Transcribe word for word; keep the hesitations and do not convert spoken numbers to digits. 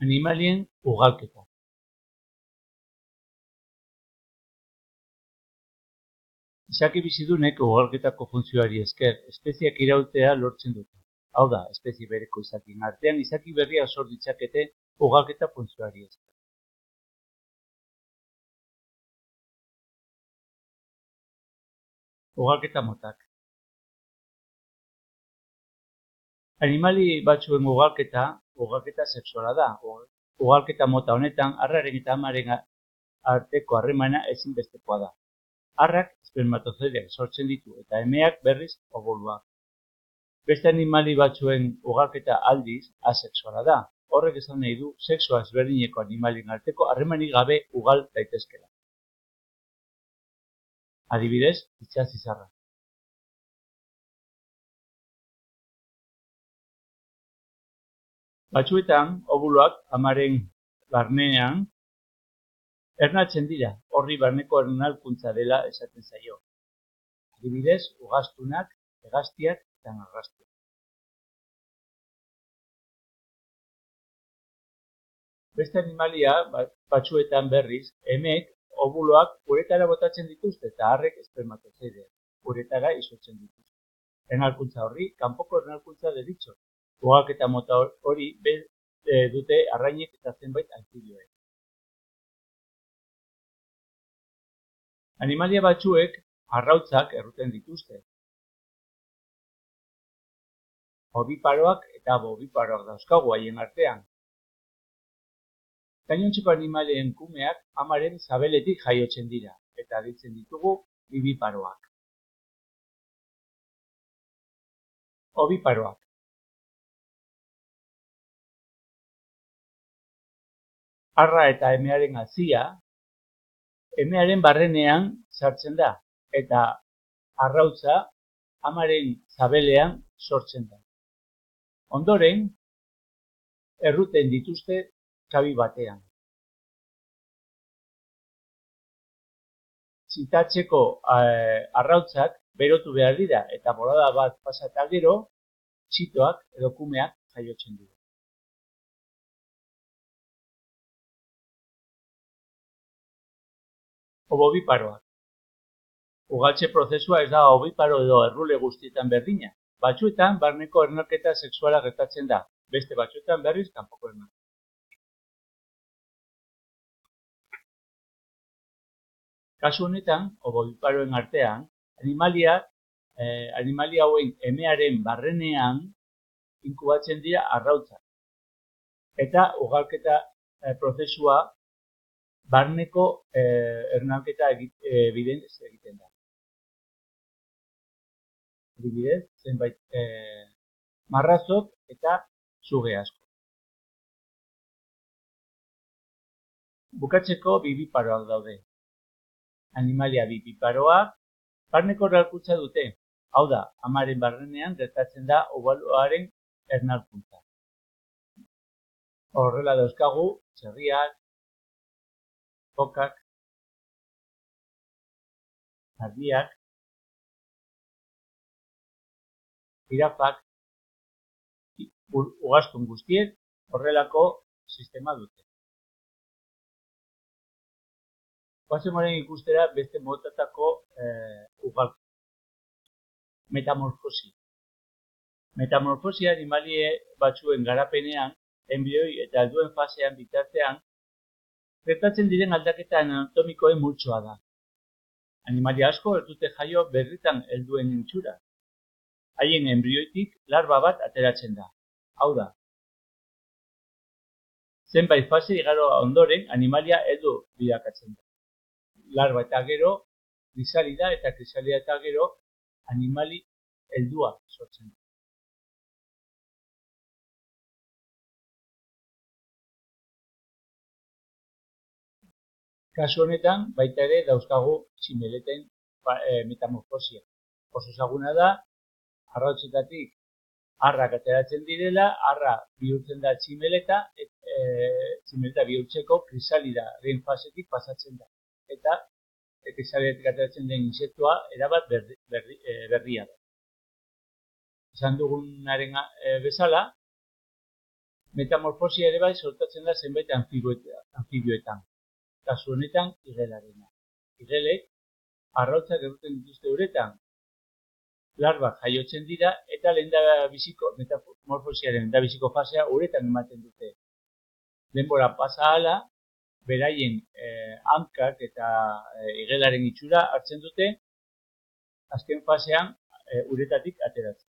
Animalien ugalketa. Izaki bizidunek ugalketako funtzioari esker espezieak irautea lortzen dute. Hau da, espezie bereko izakien artean izaki berriak sor ditzakete ugalketa funtzioari esker. Ugalketa motak. Animali batzuen ugalketa, ugalketa sexuala da. Ugalketa mota honetan, arraren eta amaren arteko harremana ezinbestekoa da. Arrak espermatozoideak sortzen ditu eta emeak berriz obuluak. Beste animali batzuen ugalketa aldiz asexuala da. Horrek esan nahi du sexua ezberdineko animalien arteko harremanik gabe ugal daitezkela. Adibidez, itsas-izarra. Batzuetan, obuloak amaren barnean ernatzen dira, horri barneko ernalkuntza dela esaten zaio. Adibidez, ugaztunak, hegaztiak eta narrastiak. Beste animalia batzuetan berriz, emeek obuloak uretara botatzen dituzte eta harrek espermatozoideak uretara izotzen dituzte. Ernalkuntza horri, kanpoko ernalkuntza deritzo. Ugalketa mota hori dute arrainek eta zenbait anfibioek. Animalia batzuek arrautzak erruten dituzte. Obiparoak eta bobiparoak dauzkagu haien artean. Gainontzeko animalien kumeak amaren sabeletik jaiotzen dira eta aditzen ditugu bibiparoak. Obiparoak. Arra eta emearen hazia emearen barrenean sartzen da eta arrautza amaren sabelean sortzen da. Ondoren, erruten dituzte kabi batean. Txitatzeko arrautzak berotu behar dira eta bolada bat pasata gero, txitoak edo kumeak jaiotzen dira. Obobiparoak. Ugaltze prozesua ez da obiparo edo errule guztietan berdina. Batzuetan barneko ernalketa sexuala gertatzen da, beste batzuetan berriz kanpoko ernalketa. Kasu honetan, obobiparoen artean, animalia, eh, animalia hauen emearen barrenean inkubatzen dira arrautzak. Eta ugalketa eh, prozesua barneko eh, ernalketa eh, bidez egiten da. Adibidez, zenbait eh, marrazok eta suge asko. Bukatzeko bibiparoak daude. Animalia bibiparoak barneko ernalkuntza dute. Hau da, amaren barrenean gertatzen da obuloaren ernalkuntza. Horrela dauzkagu, txerriak, fokak, ardiak, jirafak, ugaztun guztiek horrelako sistema dute. Guazen horren ikustera beste motatako eh, ugalketa. Metamorfosi. Metamorfosia animalie batzuen garapenean, enbioi eta helduen fasean bitartean, gertatzen diren aldaketa anatomikoen multzoa da. Animalia asko ez dute jaio berritan helduen itxura. Haien enbrioitik larba bat ateratzen da. Hau da. Zenbait fase igaro ondoren animalia heldu bilakatzen da. Larba eta gero krisalida eta krisalida eta gero animali heldua sortzen da. Kasu honetan, baita ere dauzkagu tximeleten metamorfosia. Oso ezaguna da, arrautzetatik harrak ateratzen direla, harra bihurtzen da tximeleta, e, tximeleta bihurtzeko krisalidaren fasetik pasatzen da. Eta krisalidatik ateratzen den insektua erabat berri, berri, e, berria da. Esan dugunaren e, bezala, Metamorfosia ere bai sortatzen da zenbait anfibioetan, kasu honetan igelarena. Igelek arrautzak egiten dituzte uretan, larbak jaiotzen dira eta lehendabiziko metamorfosiaren lehendabiziko fasea uretan ematen dute. Denbora pasa ahala, beraien eh, hankak eta eh, igelaren itxura hartzen dute, azken fasean eh, uretatik ateratzen.